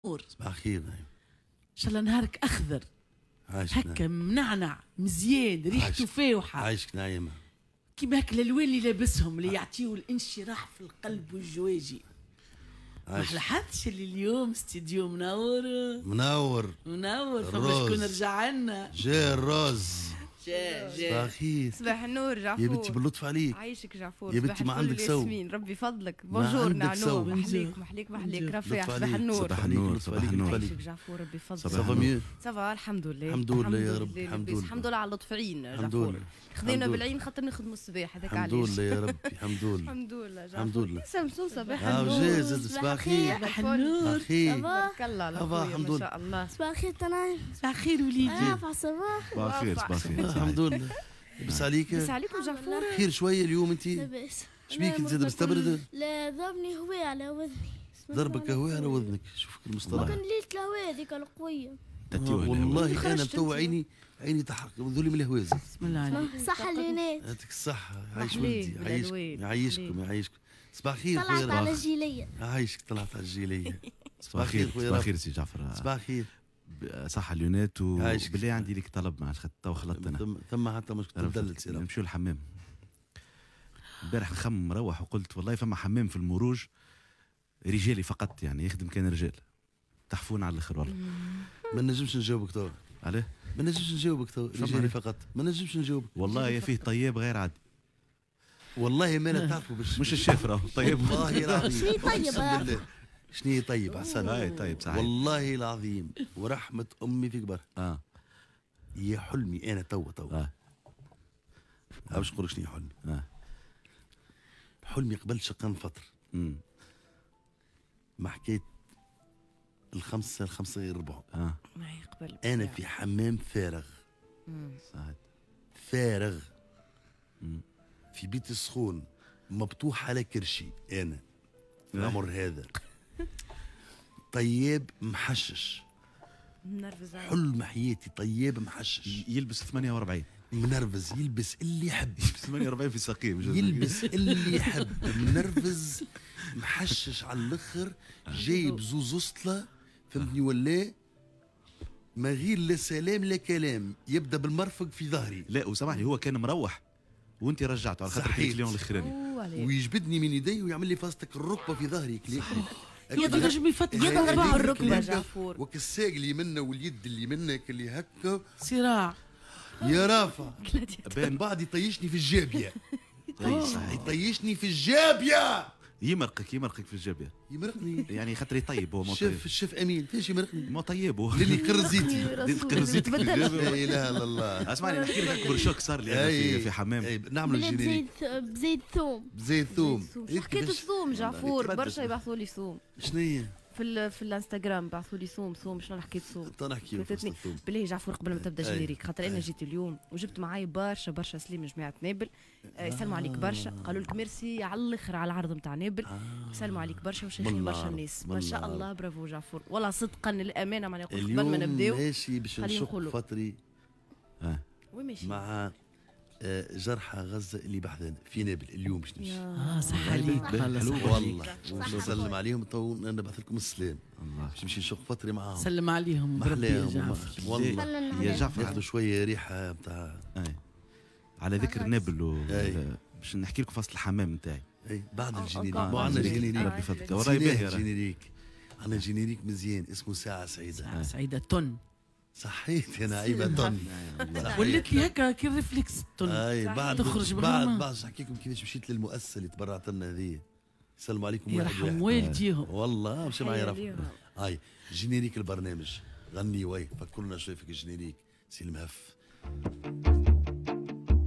صباح الخير نعيم. ان شاء الله نهارك اخضر. عايشك. هكا منعنع مزيان، ريحته فاوحه. عايشك نعيمه. كيما هكا الالوان اللي لابسهم اللي يعطيو الانشراح في القلب والجواجي. ما لاحظتش اللي اليوم استديو منور؟ منور منور، فما شكون رجع لنا؟ جا الرز. جا صباح الخير. صباح النور جعفور. يا بنتي باللطف عليك. عايشك جعفور. يا بنتي ما عندك سو. ربي فضلك. bonjour نعنوع، محليك محليك محليك رفيع. صباح النور. صباح النور. صباح النور. عايشك جعفور ربي فضلك. ça va mieux؟ ça va الحمد لله. الحمد لله يا رب. الحمد لله. الحمد لله على لطف عين جعفور. خذينا بالعين خاطر نخدموا الصباح هذاك علاش. الحمد لله يا ربي. الحمد لله. الحمد لله. الحمد لله. سمسوم صباح النور. جاز صباح الخير. صباح النور. تبارك الله على خويا ما شاء الله. صباح الخير تنايم. صباح الخير وليدي. صباح الصباح. صباح الخير. صباح الخير. الحمد لله. لاباس عليك؟ لاباس عليكم جعفور؟ خير شوية اليوم انت؟ لاباس. شبيك انت زاد مستبرده؟ لا ضربني هواء على وذني. ضربك هواء على وذنك، شوفك المصطلح. كان ليلة الهواء هذيك القوية. والله انا تو عيني عيني تحرق ذولي من الهواء. بسم الله عليك. صحة اليونات. يعطيك الصحة. عايش ولدي. عايشكم يعيشكم يعيشكم. صباح الخير. طلعت على الجيليه. عايشك طلعت على الجيليه. صباح الخير. صباح الخير سي جعفر. صباح الخير. صح اليونات. وبالله عندي لك طلب مع تو خلطت انا. ثم حتى مشكل تدلل سي. نمشيو للحمام. البارح نخمم مروح وقلت والله فما حمام في المروج رجالي فقط، يعني يخدم كان رجال. تحفون على الاخر والله. ما نجمش نجاوبك تو. علاه؟ ما نجمش نجاوبك تو. رجالي فقط ما نجمش نجاوبك. والله يا فيه طياب غير عادي. والله ما انا تعرفوا باش مش الشيف راهو طيب. والله العظيم. شنو طيب؟ شنو طيب عسل. اي طيب صحيح. والله العظيم ورحمة أمي في كبرها. يا حلمي أنا توا توا. باش نقول لك شنو حلمي. حلمي قبل شقان فطر. مع حكاية 4:55 غير ربع. قبل. أنا في حمام فارغ. صحيح. فارغ. في بيت السخون مبطوح على كرشي أنا. في العمر هذا. طياب محشش. منرفز. حلم حياتي طياب محشش. يلبس 48. منرفز، يلبس اللي يحب. يلبس 48 في ساقيه. يلبس اللي يحب. منرفز محشش على الاخر، جايب زوز اسطله فهمتني ولا؟ ما غير لا سلام لا كلام، يبدا بالمرفق في ظهري. لا وسامحني هو كان مروح وانت رجعته على خاطر ال client الاخراني. ويجبدني من يدي ويعمل لي فاستك الركبة في ظهري. ينجم يفتح يضرب الركبة جعفور. وكالساق اللي منا واليد اللي منك اللي هكا صراع يا رافع. من بعد يطيشني في الجابية. يطيشني في الجابية. يمرقك يمرقك في الجابية. يمرقني يعني خاطر يطيب هو. الشيف الشيف امين فاش يمرقني؟ ما طيب هو. للي قرزيتي. قرزيتي. لا اله الا الله. اسمعني نحكي لك اكبر choc صار لي في حمام. نعملوا générique. بزيت ثوم. بزيت ثوم. حكيت الثوم جعفور برشا يبعثوا لي ثوم. شنو هي؟ في الانستغرام بعثوا لي ثوم ثوم. شنو حكيت ثوم؟ نحكي بالله جعفور قبل ما تبدا générique خاطر انا جيت اليوم وجبت معاي برشا برشا سليم جماعة نابل. يسلموا عليك برشا، قالوا لك ميرسي على الاخر على العرض نتاع نابل. يسلموا عليك برشا وشيخين برشا الناس ما شاء الله. برافو جعفور والله صدقا للامانة معناها قبل ما نبداو ماشي باش نشق فتري وين ماشي مع جرحى غزة اللي بحذانا في نابل اليوم باش نمشي. صح عليك. والله نسلم عليهم تو نبعث لكم السلام. باش نمشي نشق فتري معاهم. سلم عليهم بربي يا جعفر. والله يا جعفر ياخذوا شوية ريحه نتاع. على ذكر نابل باش نحكي لكم فصل الحمام نتاعي. اي بعد ال générique. ما عندنا générique. ربي فضلك والله باهي générique. عندنا générique مزيان اسمه ساعة سعيدة. ساعة سعيدة تن. صحيت يا نعيمه تن. ولات لي هكا كي réflexe تن. اي بعد تخرج بعد نحكي لكم كيفاش مشيت للمؤسسه اللي تبرعت لنا هذه. السلام عليكم. يرحم والديهم. والله مشى معايا رفع. هاي générique البرنامج غني وي فكرنا شوي في ال générique سي المهف.